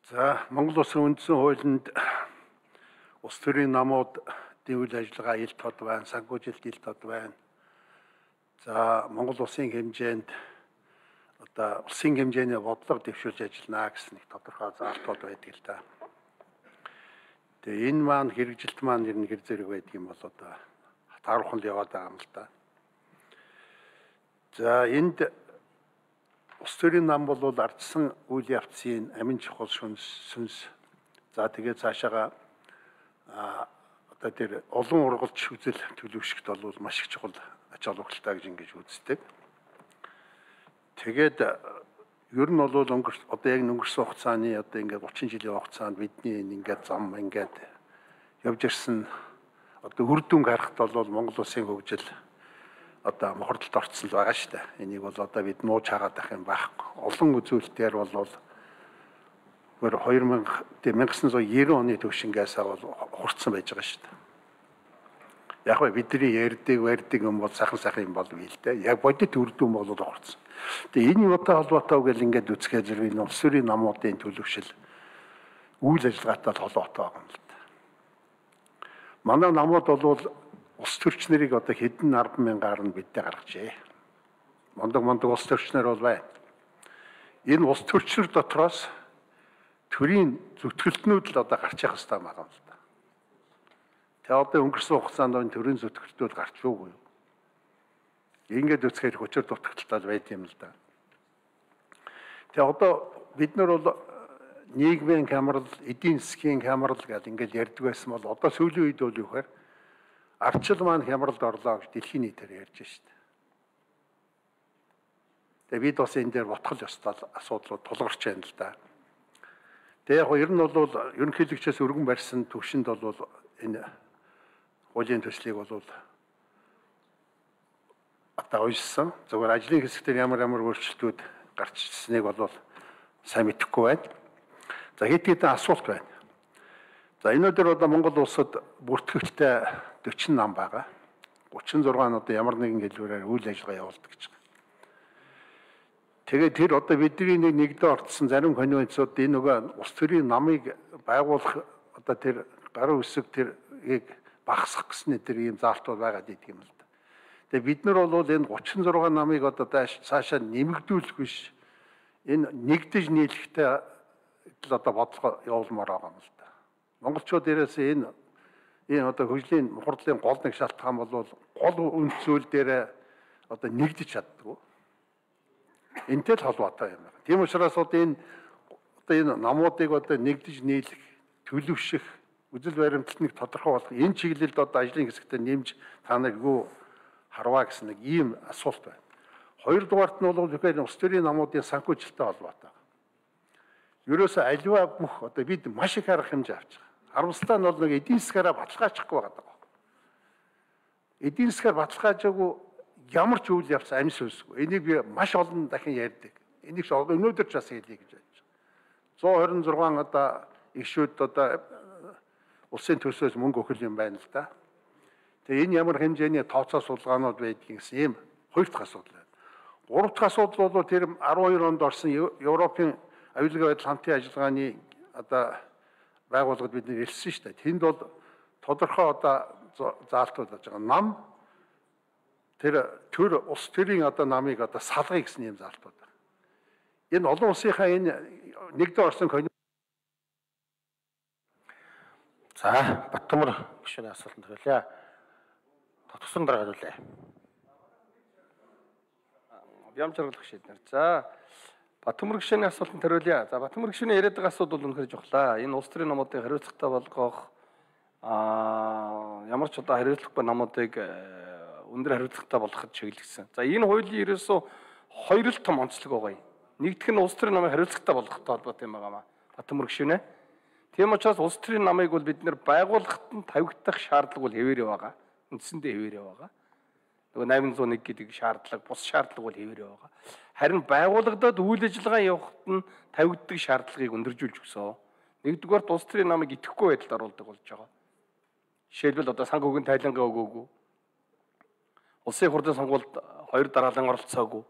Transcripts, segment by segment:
За Монгол Улсын үндсэн хуулинд улс төрийн намуудын үйл ажиллагаа ил тод байна, санхүүжилт ил тод байна. За Монгол Улсын хэмжээнд одоо улсын хэмжээний бодлого дэвшүүлж ажиллана гэсэн нэг тодорхой заалтууд байдаг л да. Тэгээ энэ маань хэрэгжилт маань ер нь хэр зэрэг байдаг юм бол одоо таархан л яваад байгаа юм л да. За энд улс төрийн нам бол ардсан үйл явцын амин чухал сүнс. За тэгээд цаашаага одоо тэр олон ургалж үзэл төлөвшөлт бол маш их чухал ач холбогдолтой гэж ингэж үздэг. Тэгээд ер нь бол одоо яг өнгөрсөн хугацааны одоо ингээд 30 жилийн хугацаанд бидний ингээд зам ингээд явж ирсэн одоо үр дүн харахад бол Монгол Улсын хөгжил одоо мохордолд орцсон байгаа шүү дээ. Энийг бол одоо бид нууж хагаад ах юм байхгүй. Олон үзүүлэлтээр бол 1990 оны төвшингээс бол хурцсан байж байгаа шүү дээ. Яг нь бидний ярьдаг юм бол сайхан юм бол бий л дээ. Яг бодит үр дүн бол хурцсан. Тэгээ энэ юутай холбоотой гэл ингээд үзэхээр зэрэг энэ улс төрийн намуудын төлөвшил үйл ажиллагаатай холбоотой байгаа юм л да. Манай намууд бол улс төрчнэрийг одоо хэдэн 10,000-аар нь биддээ гаргажээ. Мондог улс төрчнөр бол байна. Энэ улс төрчнөр дотроос төрийн зүтгэлтнүүд л одоо гарч явах хэрэгтэй байгаа юм л да. Тэгээ одоо өнгөрсөн хугацаанд энэ төрийн зүтгэлтнүүд гарч уугүй. Ингээд үсгээр хүчээр дутагдaltaал байд юм л да. Тэгээ одоо бид нар бол нийгмийн хямрал, эдийн засгийн хямрал гэдэг ингээд ярьдаг байсан бол одоо сүүлийн үед бол юу гэхээр ардчил маань хямралд орлоо гэж дэлхийн нийтээр ярьж штэ. Тэгээ бид бас энэ дээр ботгол ёстой асуудлууд тулгарч байна л да. Тэгээ яг ер нь бол ерөнхийлөгчөөс өргөн барьсан төвшөнд бол энэ хуулийн төслийг бол одоо уйсан. Зөвхөн ажлын хэсгээр ямар өөрчлөлтүүд гарч ирснийг бол сайн мэдэхгүй байна. За хэд асуулт байна. За энэ өдөр одоо Монгол улсад бүртгэгчтэй 40 нам байгаа. 36 нь одоо ямар нэгэн хэлбэрээр үйл ажиллагаа явуулдаг гэж байна. Тэгээд тэр одоо бидний нэгдээ орцсон зарим конвенцууд энэ нөгөө улс төрийн намыг байгуулах одоо тэр гарын үсэг тэрийг багасгах гэсэн тэр ийм заалтууд байгаа гэдэг юм л да. Тэгээд бид нар бол энэ 36 намыг одоо цаашаа нэмэгдүүлэх биш энэ нэгдэж нийлэхтэй л одоо бодлого явуулмаар байгаа юм л да. Монголчууд дээрээс энэ одоо хөгжлийн мохордлын гол нэг шалтгаан бол гол үнд зүйл дээр одоо нэгдэж чаддгүй. Энтэй л холбоотой юм байна. Тийм учраас одоо энэ намуудыг одоо нэгдэж нийлэх, төлөвшөх, үзэл баримталт нэг тодорхой болох энэ чиглэлд одоо ажлын хэсэгтээ нэмж та нар юу харваа гэсэн нэг ийм асуулт байна. Хоёрдугаарт нь бол тэгэхээр улс төрийн намуудын санхүүжилттэй холбоотой. Ерөөсөө аливаа бүх одоо бид маш их арга хэмжээ авч байгаа. Харамсалтай нь бол нэг эдийн засгаараа баталгаачихгүй байгаа даа. Эдийн засгаар баталгаажаагүй ямар ч үйл явц амь сүнсгүй. Энийг би маш олон дахин ярьдаг. Энийг ч өнөөдөр ч бас хэлье гэж байж байгаа. 126 одоо ишүүд одоо улсын төсөөс мөнгө өгөх юм байна л да. Тэгээ энэ ямар хэмжээний тооцоо судалгаанууд байдгийг гэсэн ийм хоёр дахь асуудал байна. Гурав дахь асуудал бол тэр 12 онд орсон Европын аюулгүй байдал хамтын ажиллагааны одоо байгууллагад бид нэр хэлсэн шүү дээ. Тэнд бол тодорхой одоо заалтууд болж байгаа. Нам тэр улс төрийн одоо намыг одоо салгая гэсэн юм заалтууд байна. Энэ олон улсынхаа энэ нэгдээ орсон За Баттамар гишүүний асуултанд хариулъя. Татгсан дараа хариулъя. Бямжралх шийднэр. За Баттамар гишүүний асуултанд хариулъя. За Баттамар гишүүний яриад байгаа асуудал бол үнэхээр жухлаа. Энэ улс төрийн намуудыг хариуцлагатай болгох ямар ч одоо хариуцлагагүй намуудыг өндөр хариуцлагатай болгоход чиглэгдсэн. За энэ хуулийн ерөөсөө хоёр л том онцлог байгаа юм. Нэгдүгээр нь улс төрийн намыг хариуцлагатай болгохтой холбоотой юм байна. Баттамар гишүүнэ. Тийм учраас улс төрийн намыг бол бид нэр байгууллагад нь тавигдах шаардлага бол хэвээрээ байгаа. Үндсэндээ хэвээрээ байгаа. Нөгөө 801 гэдэг шаардлага, бус шаардлага бол хэвээрээ байгаа. Харин байгууллагад үйл ажиллагаа явахад нь тавигддаг шаардлагыг өндөржүүлж өгсөн. Нэгдүгээр улс төрийн намыг идэхгүй байдалд оруулдаг болж байгаа. Жишээлбэл одоо санхүүгийн тайлангаа өгөөгүй. Улсын хурлын сонгуульд 2 дараалан оролцоогүй.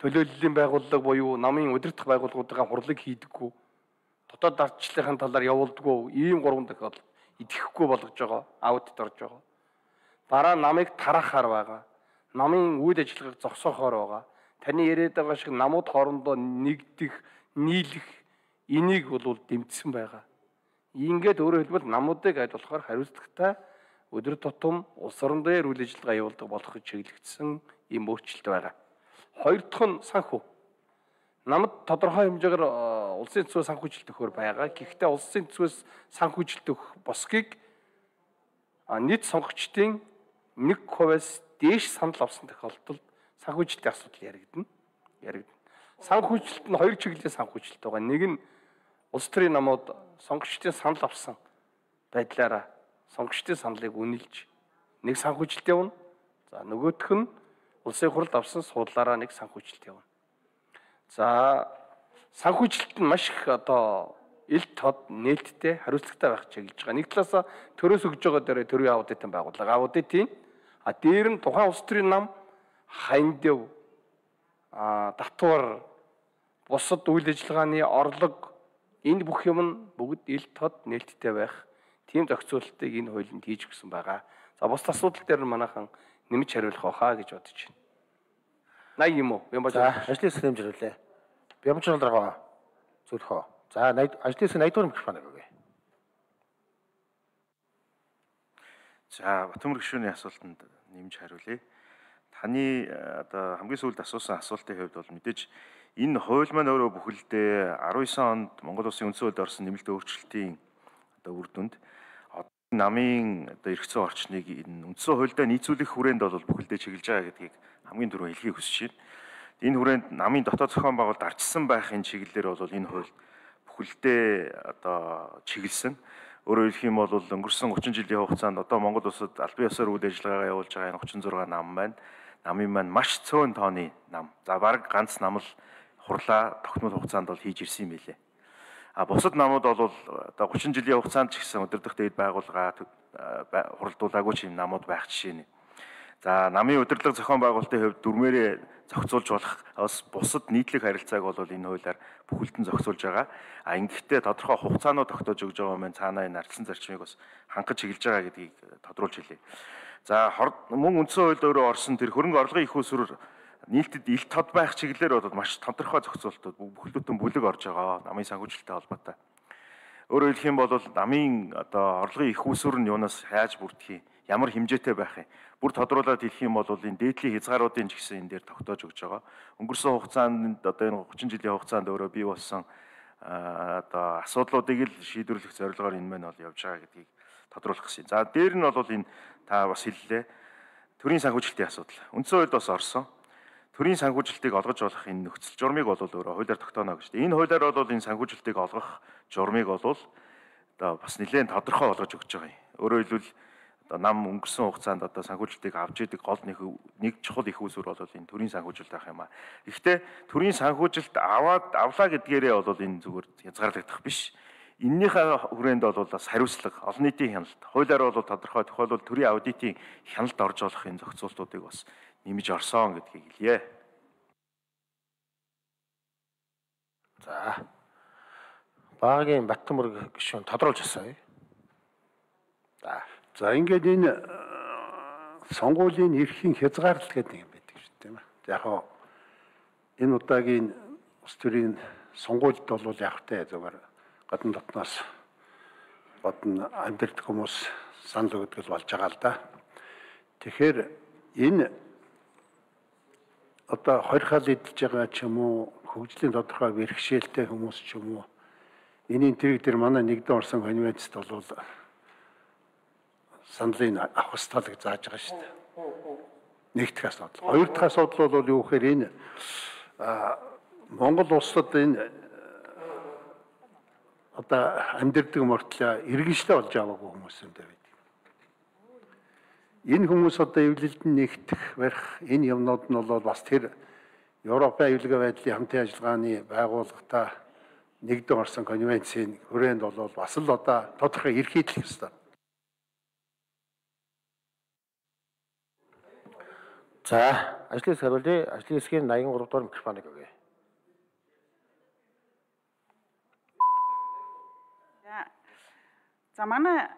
Төлөөллийн байгууллага буюу намын удирдах байгууллагуудаа хурлыг хийдэггүй. дотоод ардчлалын талаар явуулдаггүй ийм 3 тохиолдол идэхгүй болгож байгаа, аудит орж байгаа. Дараа намыг тарахаар байгаа. Намын үйл ажиллагааг зогсоохоор байгаа. Таны яриад байгаа шиг намууд хоорондоо нэгдэх, нийлэх энийг бол дэмжсэн байгаа. Ингээд өөрөөр хэлбэл намуудыг аль болохоор хариуцлагатай өдөр тутам улс орон дээр үйл ажиллагаа явуулдаг болох гэж чиглэгдсэн ийм өөрчлөлт байгаа. Хоёр дахь нь санхүү. Намд тодорхой хэмжээгээр улсын төсвөө санхүүжилт өгөхөр байгаа. Гэхдээ улсын төсвөөс санхүүжилт өгөх босгийг нийт сонгогчдын 1%-аас дээш санал авсан тохиолдолд санхүүжилтийн асуудал яригдана. Санхүүжилт нь хоёр чиглэлийн санхүүжилт байгаа. Нэг нь улс төрийн намууд сонгогчдын санал авсан байдлаараа сонгогчдын саналыг үнэлж нэг санхүүжилт явна. За нөгөөх нь улсын хурлд авсан суудлаараа нэг санхүүжилт явна. За санхүүжилт нь маш их ил тод нээлттэй хариуцлагатай байх чиглэж байгаа. Нэг талаасаа төрөөс өгж байгаа дээр төрийн аудитын байгууллага аудитын дээр нь тухайн улс төрийн нам хандив татвар бусад үйл ажиллагааны орлого энэ бүх юм нь бүгд ил тод нээлттэй байх тийм зохицуулалтыг энэ хуулинд хийж өгсөн байгаа. За бус асуудал дээр нь манайхан нэмж хариулах байхаа гэж бодож байна. 80 юм уу? Бямбаж ажлын хэсэг хэмжүүлээ. Бямбаж руу зөвлөхөө. За ажлын хэсэг 80 дугаар микрофон өгье. За Батбаяр гишүүний асуултанд нэмж хариулъя. Таны хамгийн сүүлд асуусан асуултын хувьд бол мэдээж энэ хууль маань өөрөө бүхэлдээ 19 онд Монгол Улсын үндсэн хуульд орсон нэмэлт өөрчлөлтийн үр дүнд намын эрх зүйн орчныг энэ үндсэн хуульдаа нийцүүлэх хүрээнд бол бүхэлдээ чиглэж байгаа гэдгийг хамгийн түрүү хэлхийг хүсэж байна. Энэ хүрээнд намын дотоод зохион байгуулалт арчсан байхын чиглэлээр бол энэ хууль бүхэлдээ чиглэсэн. Өөрөөр хэлэх юм бол өнгөрсөн 30 жилийн хугацаанд Монгол улсад албан ёсоор үйл ажиллагаа явуулж байгаа энэ 36 нам байна. Намын маань маш цөөн тооны нам. За бараг ганц нам л хурлаа тогтмол хугацаанд бол хийж ирсэн юм билээ. Бусад намууд бол 30 жилийн хугацаанд ч гэсэн өдөрдох дээд байгууллага хуралдуулаагүй ч юм намууд байх жишээ нь. За намын удирдлага зохион байгуулалтын хувьд дүрмээрээ зохицуулж болох бусад нийтлэг харилцааг бол энэ хуулиар бүхэлдэн зохицуулж байгаа. Ингэхдээ тодорхой хугацаанууд тогтоож өгж байгаа юм цаанаа энэ ардсан зарчмыг бас хангаж чиглэж байгаа гэдгийг тодруулж хэлье. За мөн үндсэн хуульд өөрөө орсон тэр хөрөнгө орлогын их усрээр нийлтэд ил тод байх чиглэлээр бол маш тодорхой зохицуултууд бүхэлдэн бүлэг орж байгаа намын санхүүжилттэй холбоотой. Өөрөөр хэлэх юм бол намын орлогын их усүр нь юунаас хайж бүрдэх юм, ямар хэмжээтэй байх юм. Бүр тодруулаад хэлэх юм бол энэ дээдлийн хязгааруудын ч гэсэн энэ дээр тогтоож өгж байгаа. Өнгөрсөн хугацаанд энэ 30 жилийн хугацаанд өөрөө бий болсон асуудлуудыг л шийдвэрлэх зорилгоор энэ мань бол явж байгаа гэдгийг тодруулах гэсэн. За дээр нь бол энэ та бас хэллээ. Төрийн санхүүжилтийн асуудал. Үндсэн хуульд бас орсон. Төрийн санхүүжилтийг олгож болох энэ нөхцөл журмыг бол өөрөө хуулиар тогтооно гэж. Энэ хуулиар бол энэ санхүүжилтийг олгох журмыг бол бас нэлээд тодорхой болгож өгч байгаа юм. Өөрөөр хэлбэл нам өнгөрсөн хугацаанд санхүүжилтийг авч идэг гол нэг чухал их усүр бол энэ төрийн санхүүжилт байх юм аа. Гэхдээ төрийн санхүүжилт авлаа гэдгээрээ бол энэ зүгээр хязгаарлагдах биш. Эннийхээ хүрээнд бол бас хариуцлага, олон нийтийн хяналт, хуулиар бол тодорхой тохиолдолд төрийн аудитын хяналт орж болох энэ зохицуултуудыг бас нэмж орсон гэдгийг хэлье. За. Багийн Батбаяр гишүүн тодруулж асууя. За ингээд энэ сонгуулийн эрхийн хязгаарлалт гэдэг юм байдаг шүү дээ тийм ээ. Яг хоо энэ удаагийн улс төрийн сонгуульд бол яг тэ зөвөр гадна дотноос амьдрэх хүмүүс санал өгдөг болж байгаа л да. Тэгэхээр энэ хорихол идэж байгаа ч юм уу, хөгжлийн тодорхой бэрхшээлтэй хүмүүс ч юм уу, энийн тэрэг дээр манай нэгдэн орсон конвенцэд бол саналыг авах ёстой гэж зааж байгаа шүү дээ. Нэг дахь асуудал. Хоёр дахь асуудал бол юу гэхээр энэ Монгол улсад энэ амьдэрдэг мөртлөө иргэншлээ болж аваагүй хүмүүс юм дээр байдаг. Энэ хүмүүс эвлэлд нэгдэх барих энэ юмнууд нь бол бас тэр Европын аюулгүй байдлын хамтын ажиллагааны байгууллагатай нэгдэн орсон конвенцийн хүрээнд бол бас л тодорхой эрхийдлэх ёстой. За, ажлын хэсэг хариулъя. Ажлын хэсгийн 83 дугаар микрофоныг өгье. За манай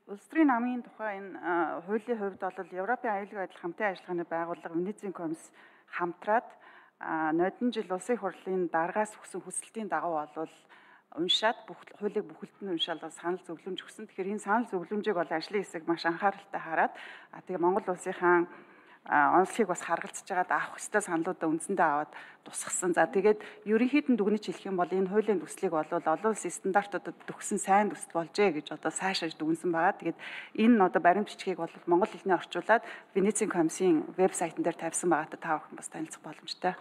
улс төрийн намын тухай энэ хуулийн хувьд бол Европын аюулгүй байдал хамтын ажиллагааны байгууллага Венецийн комисс хамтраад нодон жил улсын хурлын дараагаас өгсөн хүсэлтийн дагуу бол уншаад хуулийг бүхэлд нь уншаал санал зөвлөмж өгсөн. Тэгэхээр энэ санал зөвлөмжийг бол ажлын хэсэг маш анхааралтай хараад тэгээ Монгол улсынхаа онцлогийг бас харгалзаж байгаад авах ёстой саналуудаа үндсэндээ аваад тусгасан. За тэгээд ерөнхийд нь дүгнэж хэлэх юм бол энэ хуулийн төслийг бол олон улсын стандартуудад төгсөн сайн төсөл болжээ гэж одоо сайшааж дүгнсэн байгаа. Тэгээд энэ одоо баримт бичгийг бол монгол хэлний орчуулад Венецийн комиссийн вебсайтн дээр тавьсан байгаатай та бүхэн бас танилцах боломжтой.